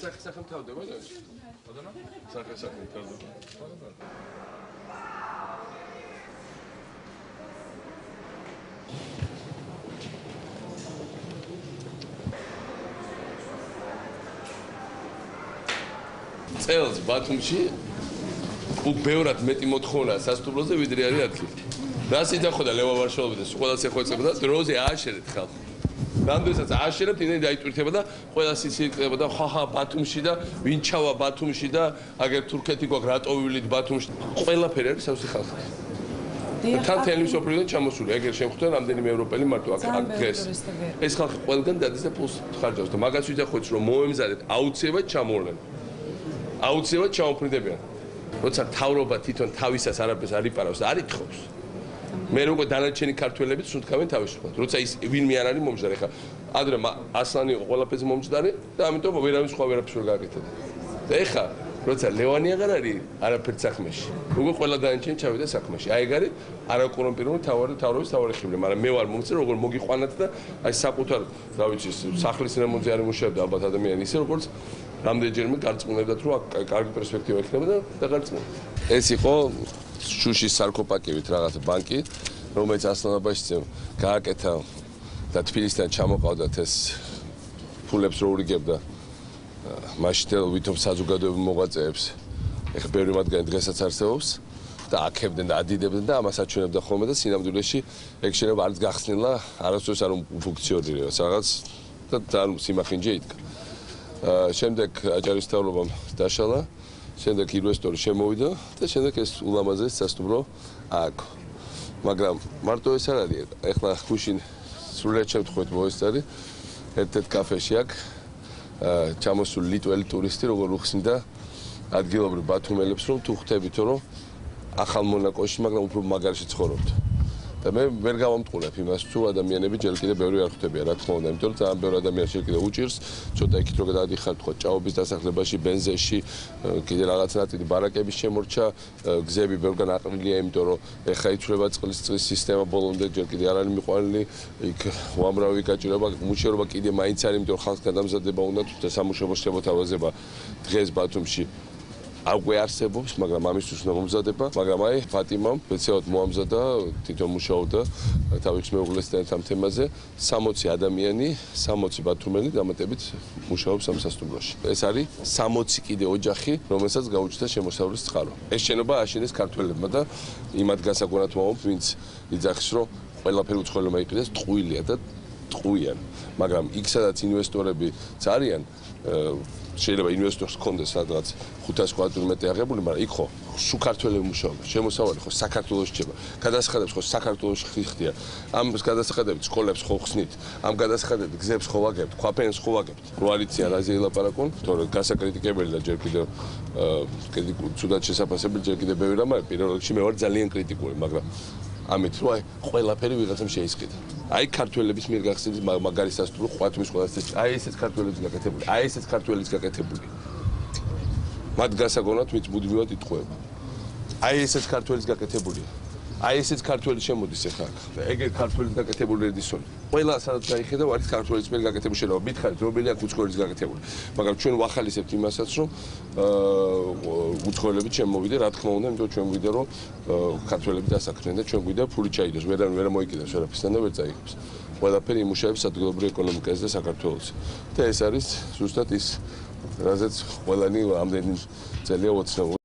სახე თავდება და სახე თავდება. წელს ბათუმში უბრალოდ მეტი მოთხოვნა სასტუმროზე ვიდრე არის ადგილი. რას იდახოდა ლევა ვარშავაძე და ყველას ეხვეწებოდა დროზე ააშერეთ ხალხი. რამდენსაც ააშერებთ იმედი დაიტვირთება და ყველას ისიწყება და ხახა ბათუმში და ვინ ჩავა ბათუმში და აგერ თურქეთი გვაქვს რატო ვივლით ბათუმში ყველაფერი არის სავსე ხალხი. თან თელევიზიო პროდუქტი ჩამოსული ეგერ შემხვდა რამდენიმე ევროპელი მარტო აქ დღეს. ეს ხალხი ყველგან დადის და პულს ხარჯავს და მაგას ვიძახოთ რომ მოემზადეთ აუცილებლად ჩამოვლენ. აუცილებლად ჩამოფრინდებიან. როცა თავრობა თვითონ თავისას არაფერს არ იპარავს და არ ითხოვს. მე როგორ დანარჩენი ქართველებიც სუნთქავენ თავისუფლად. როცა ის ვინმე არ არის მომჟდარი, ხა ადრე ასლანი ყველაფერზე მომჟდარი და ამიტომ ვერავის სხვა ვერაფერს ვერ გააკეთებდა. და ეხა როცა ლევანი აღარ არის არაფერ საქმეში. როგორ ყველა დანარჩენი ჩავიდა საქმეში. აი ეგ არის არაკორუმპირებული თავრობის თავარი ხიბლი, მაგრამ მე ვარ მომწე როგორ მოგიყვანათ და აი საკუთარ რა ვიცი სახლის რემონტზე არ იმუშავებდა ალბათ ადამიანი ისე როგორც რამდენჯერმე გარწმუნებდათ რომ კარგი პერსპექტივა ექნება და დაგარწმუნდა. ეს იყო შუშის სარკოპაკივით რაღაც ბანკი, რომელიც ასლანაბაშიძემ გააკეთა და თბილისიდან ჩამოყავდათ ეს ფულებს რო ურიგებდა მაშინ ვითომ საზოგადოებრივ მოღვაწეებს. ეხლა ბევრი მათგანი დღესაც არსებობს და აქებდნენ და ადიდებდნენ და ამას აჩვენებდა ხოლმე და სინამდვილეში ეგ შეიძლება არც გახსნილა, არასდროს არ ფუნქციონირებს რაღაც და ძალიან სიმახინჯე იდგა. შემდეგ აჭარის მთავრობამ დაშალა, შემდეგ ინვესტორი შემოვიდა და შემდეგ ეს ულამაზეს სასტუმრო ააგო. მაგრამ მარტო ეს არ არის, ეხლა გუშინ სრულად შევთხოვეთ მოესწარი ერთ-ერთ კაფეში აქ ჩამოსული ლიტველი ტურისტი როგორ უხსნიდა ადგილობრივ ბათუმელებს რომ თუ ხვდებითო რომ ახალ მონაკოში, მაგრამ უფრო მაგარში ცხოვრობთ. და მე ვერ გავამტყურებ იმას თუ ადამიანები ჯერ კიდე ბევრი არ ხვდებიან რა თქმა უნდა, იმიტომ რომ ძალიან ბევრი ადამიანი ჯერ კიდე უჭირს, ცოტა იქით რო გადადიხარ თქო ჭაობის დასახლებაში, ბენზეში, კიდე რაღაც ნაწილი ბარაკების შემორჩა, გზები ბევრგან აყრილია, იმიტომ რომ ეხა იცვლება წყლის სისტემა ბოლომდე ჯერ კიდე არ არის მიყვანილი, იქ უამრავი გაჭირება, მუშაობა კიდე მაინც არის, იმიტომ რომ ხალხს გადამზადება უნდა და სამუშაო შეთავაზება დღეს ბათუმში აღვე არსებობს, მაგრამ ამისთვის უნდა მომზადება, მაგრამ აი ფატიმამ სპეციალურად მოამზადა, თვითონ მუშაობდა თავის მეუღლესთან ამ თემაზე, 60 ადამიანი, 60 ბათუმელი დამატებით მუშაობს ამ სასტუმროში. ეს არის 60 კიდე ოჯახი, რომელსაც გაუჩნდა შემოსავლის წყარო. ეს შენობა აშენეს ქართველებმა და იმათ გასაგონად ვამბობ, ვინც იძახის, რომ ყველაფერი უცხოელმა იყიდეს, ტყუილია და ტყუიან, მაგრამ იქ სადაც ინვესტორებიც არიან, შეიძლება ინვესტორს ჰქონდეს სადღაც 500 კვადრატული მეტრი აღებული, მაგრამ იქ ხო სულ ქართველები მუშაობენ. შემოსავალი ხო საქართველოში რჩება. გადასახადებს ხო საქართველოში ხდიან. ამ გადასახადებით სკოლებს ხო ხსნით. ამ გადასახადებით გზებს ხო ვაგებთ, ქვაფენს ხო ვაგებთ. რო არიციან რაზე ელაპარაკონ, თორე გასაკრიტიკებელი და ჯერ კიდევ კრიტიკული, ცუდად შესაფასებელი ჯერ კიდევ ბევრი რამაა. პირველ რიგში მე ვარ ძალიან კრიტიკული, მაგრამ ამით რო აი ყველაფერი ვიღაცამ შეისყიდა. აი ქართველების მიერ გახსნილი მაგარი სასტუმრო ყვათმის ყველას ეს აი ესეც ქართველების გაკეთებული. აი ესეც ქართველების გაკეთებული. მათ გასაგონად ვინც მუდმივად იტყუება. აი ესეც ქართველების გაკეთებულია. აი ესეც ქართველი შემოდის ახლა. ეგ ქართველის გაკეთებული რედისონი. ყველა სადაც გაიხედავ არის ქართველის მიერ გაკეთებული შენობა. მითხარით რომელი აქ უცხოელის გაკეთებული. მაგრამ ჩვენ ვახალისებთ იმასაც რომ უცხოელები შემოვიდა, რა თქმა უნდა, იმიტომ ჩვენ გვიდა რომ ქართველები დასაქმდნენ და ჩვენ გვიდა ფული ჩაიდოს, ვერ მოიკიდებს ვერაფერსთან და ვერ წაიღებს. ყველაფერი იმუშავებს ადგილობრივ ეკონომიკაზე და საქართველოში. და ეს არის ზუსტად ის, რაზეც ყველანი ამდენი წელია ოცნებობს.